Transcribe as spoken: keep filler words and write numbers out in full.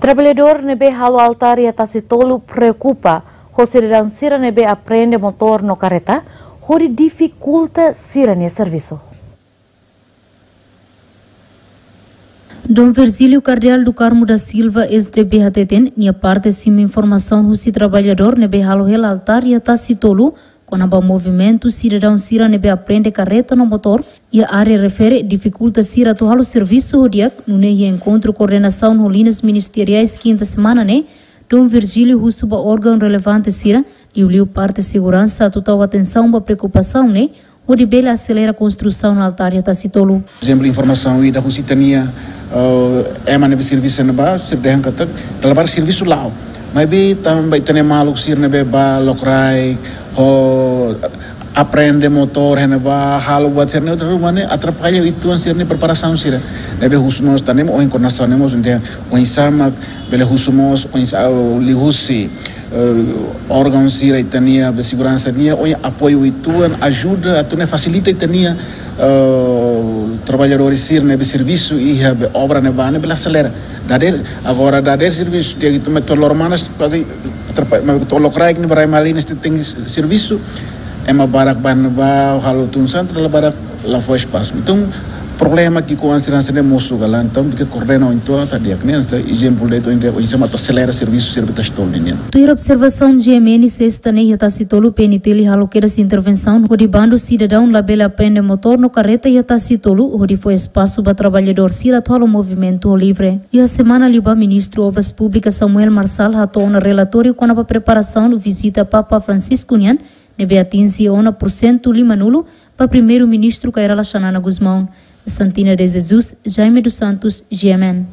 Traballadór ne'ebé halo altár iha Tasitolu preokupa ho sidadaun sira ne'ebé aprende motór no karreta hodi difikulta sira-nia servisu. Dom Virgílio Cardeal do Carmo da Silva, S D B, hateten, nia parte simu informasaun husi traballadór ne'ebé halo hela altár iha Tasitolu kona-ba movimentu sidadaun sira ne'ebé aprende karreta no motór iha área refere difikulta sira atu halo servisu ho di'ak, nune'e iha enkontru koordenasaun ho liñas ministeriais kinta semana ne'e, Dom Virgílio husu ba órgaun relevante sira, liuliu parte seguransa, atu tau atensaun ba preokupasaun ne'e, hodi bele aselera konstrusaun altár iha Tasitolu. Ezemplu, informasaun ida husi ita-nia, eh, ema ne'ebé servisu ne'ebá, sira dehan katak, dala barak servisu la'o. Maibé tanba ita-nia maluk sira ne'ebé bá lokraik, ho aprende motór, iha ne'ebá, halo buat sira-ne'e, outra ruma ne'e, atrapalla uitoan sira-nia preparasaun sira. Ne'ebé husu mós, ita-nia ohin koordenasaun ne'e mós, ita oinsá mak bele husu mós, oinsá, liuhusi, eh, órgaun sira ita-nia, be seguransa nian, oinsá apoiu uitoan, ajuda, atu nune'e fasilita ita-nia, eh, traballadór sira ne'ebé servisu iha be obra ne'ebá ne'e bele aselera. Dadeer, agora dadeer servisu, dia itu motór loro manas, kuaze atrapalla, mas motór lokraik ne'e ba rai Malinas tenke servisu, ema barak bá ne'ebá, halo tun santu, dala barak la fó espasu. Entaun, problema ki'ikoan sira-ne'e mosu ka lae, entaun, tenke koordena uitoan, atu di'ak ne'e, entaun, ezemplu de'it, oinsá mak atu aselera servisu sira iha Tasitolu nian. Tuir observasaun G M N, sesta ne'e iha Tasitolu P N T L halo kedas intervensaun hodi bandu sidadaun labele aprende motór no karreta iha Tasitolu, hodi fó espasu ba traballadór sira atu halo movimentu ho livre. Iha semana liubá, Ministru Obras Públikas Samuel Marçal hato'o ona relatóriu kona-ba preparasaun vizita Papa Francisco nian, ne'ebé atinje ona pursentu limanulu ba Primeiru-Ministru Kay Rala Xanana Gusmão. Santina de Jesus, Jaime dos Santos, G M N.